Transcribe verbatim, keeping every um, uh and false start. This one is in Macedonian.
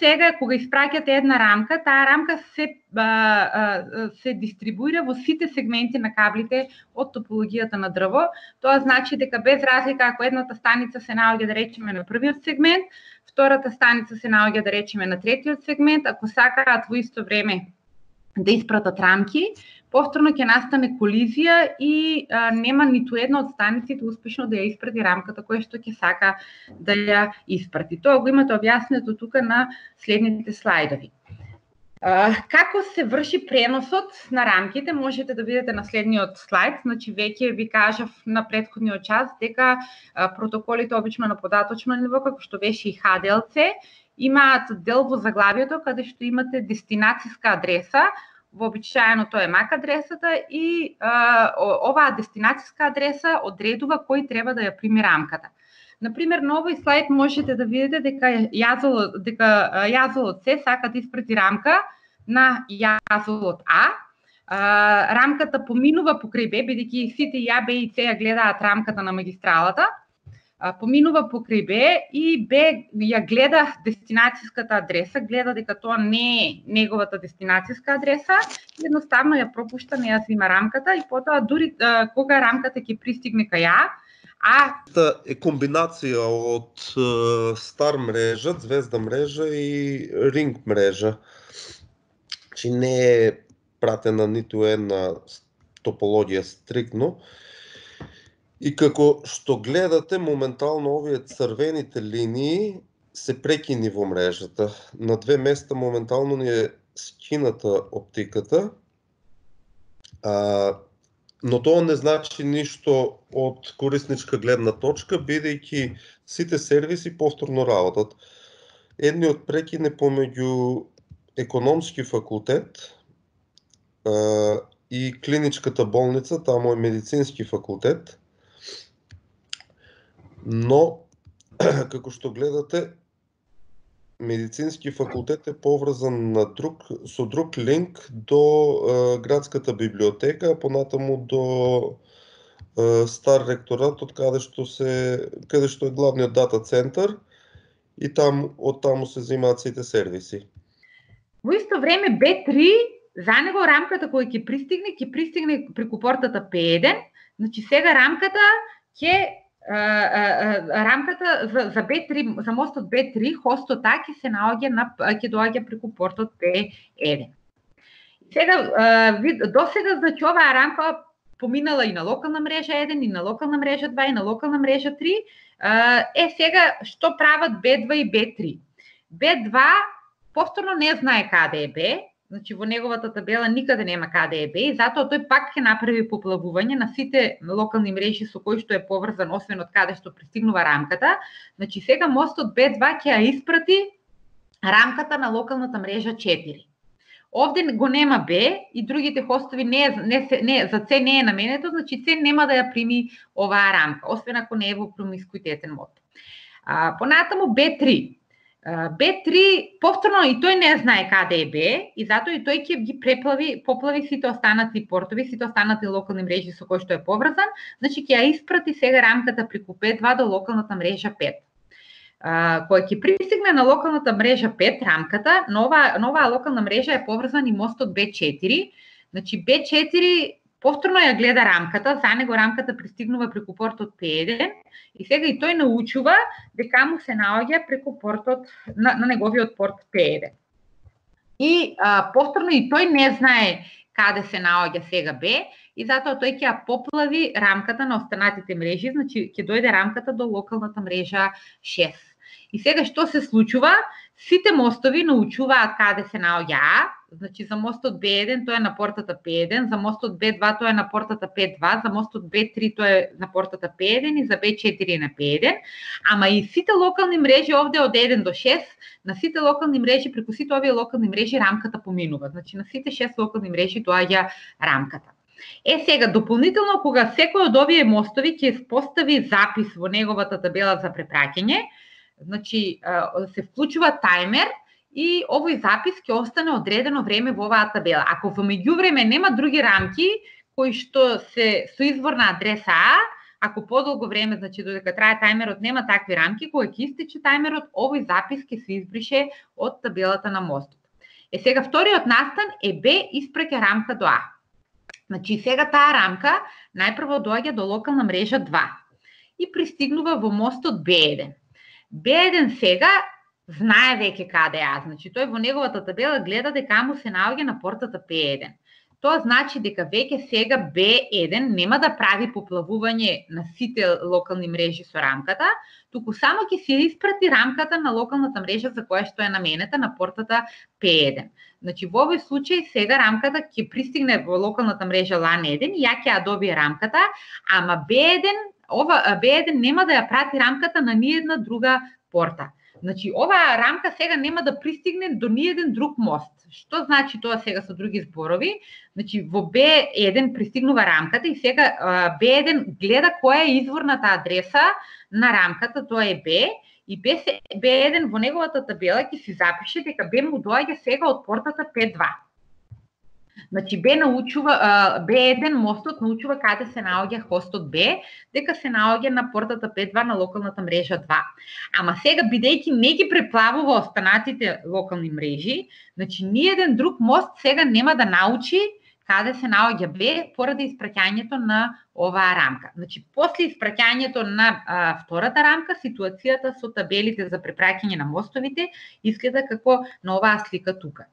сега кога испраќате една рамка, таа рамка се а, а, се дистрибуира во сите сегменти на каблите од топологијата на дрво. Тоа значи дека без разлика ако едната станица се наоѓа да речеме на првиот сегмент, втората станица се наоѓа да речеме на третиот сегмент, ако сакаат во исто време да испратат рамки, повторно ќе настане колизија и а, нема ниту една од станиците успешно да ја испрати рамката која што ќе сака да ја испрати. Тоа го имате објаснето тука на следните слайдови. А, како се врши преносот на рамките, можете да видите на следниот слайд. Значи веќе ви кажав на претходниот час дека а, протоколите обично на податочно ниво, како што беше и Х Д Л Ц, имаат дел во заглавието каде што имате дестинацијска адреса. Вообичаено тоа е ем ак адресата и а, оваа дестинацијска адреса одредува кој треба да ја прими рамката. Например, на овој слайд можете да видите дека јазолот дека јазолот С сака да испрати рамка на јазолот А. А, рамката поминува покрај Б, бидејќи сите Ја, Б и С ја гледаат рамката на магистралата. Поминува покрај Б и Б ја гледа дестинацијската адреса, гледа дека тоа не е неговата дестинацијска адреса, едноставно ја пропушта, не ја зема рамката и потоа дури кога рамката ќе пристигне кај ја, а е комбинација од стар мрежа, звезда мрежа и ринг мрежа. Чи не е пратена ниту една топологија стрикно. И како што гледате, моментално овие црвените линии се прекини во мрежата. На две места моментално ни е скината оптиката, а, но тоа не значи ништо од корисничка гледна точка, бидејќи сите сервиси повторно работат. Едниот прекин е помеѓу економски факултет а, и клиничката болница, таму е медицински факултет. Но, како што гледате, медицински факултет е поврзан на друг, со друг линк до е, градската библиотека, а понатаму до е, стар ректорат, од каде што се каде што е главниот дата центар и там од таму се земаат сите сервиси. Во исто време Б три, за него рамката која ќе пристигне, ќе пристигне преку портата П еден, значи сега рамката ќе рамката за, за Б три, за мостот Б три, хостот А ќе се наоѓа на ќе доаѓа преку портот П еден. Сега до сега значи оваа рамка поминала и на локална мрежа еден, и на локална мрежа два, и на локална мрежа три. Е сега што прават Б два и Б три? Б два повторно не знае каде е Б. Значи во неговата табела никаде нема каде е Б и затоа тој пак ќе направи поплавување на сите локални мрежи со кои што е поврзан, освен од каде што пристигнува рамката. Значи сега мостот Б два ќе ја испрати рамката на локалната мрежа четири. Овде го нема Б и другите хостови не, не, не за С не е наменето, значи С нема да ја прими оваа рамка, освен ако не е во промискуитетен мод. А, понатаму Б три. Б три повторно и тој не знае каде е Б и затоа и тој ќе ги преплави, поплави сите останати портови, сите останати локални мрежи со кои што е поврзан, значи ќе ја испрати сега рамката преку П два до локалната мрежа пет. Uh, која ќе пристигне на локалната мрежа пет рамката, нова нова локална мрежа е поврзан и мостот Б четири. Значи Б четири повторно ја гледа рамката, за него рамката пристигнува преку портот П еден и сега и тој научува дека му се наоѓа преку портот на, на неговиот порт П еден. И а, повторно и тој не знае каде се наоѓа сега Б и затоа тој ќе ја поплави рамката на останатите мрежи, значи ќе дојде рамката до локалната мрежа шест. И сега што се случува? Сите мостови научуваат каде се наоѓа А, значи за мостот Б еден тоа е на портата П еден, за мостот Б два тоа е на портата П два, за мостот Б три тоа е на портата П еден и за Б четири е на П еден, ама и сите локални мрежи овде од еден до шест, на сите локални мрежи, преку сите овие локални мрежи рамката поминува, значи на сите шест локални мрежи доаѓа рамката. Е сега, дополнително, кога секој од овие мостови ќе постави запис во неговата табела за препраќање, значи се вклучува тајмер и овој запис ќе остане одредено време во оваа табела. Ако во меѓувреме нема други рамки кои што се со изворна адреса А, ако подолго време, значи додека трае тајмерот, нема такви рамки, кога ќе истече тајмерот, овој запис ќе се избрише од табелата на мостот. Е сега вториот настан е Б испраќа рамка до А. Значи сега таа рамка најпрво доаѓа до локална мрежа два и пристигнува во мостот Б еден. Б еден сега знае веќе каде е А, значи тој во неговата табела гледа дека му се наоѓа на портата П еден. Тоа значи дека веќе сега Б еден нема да прави поплавување на сите локални мрежи со рамката, туку само ќе се испрати рамката на локалната мрежа за која што е наменета на портата П еден. Значи во овој случај сега рамката ќе пристигне во локалната мрежа лан еден и ја ќе ја добие рамката, ама Б еден, ова Б еден нема да ја прати рамката на ниедна друга порта. Значи, оваа рамка сега нема да пристигне до ниеден друг мост. Што значи тоа сега со други зборови? Значи, во Б еден пристигнува рамката и сега Б еден гледа која е изворната адреса на рамката, тоа е Б, и Б еден во неговата табела ќе си запише дека Б му доаѓа сега од портата П два. Значи Б научува, Б еден мостот научува каде се наоѓа хостот Б, дека се наоѓа на портата П два на локалната мрежа два. Ама сега, бидејќи не ги преплавува останатите локални мрежи, значи ниеден друг мост сега нема да научи каде се наоѓа Б поради испраќањето на оваа рамка. Значи, после испраќањето на а, втората рамка, ситуацијата со табелите за препраќање на мостовите изгледа како на оваа слика тука.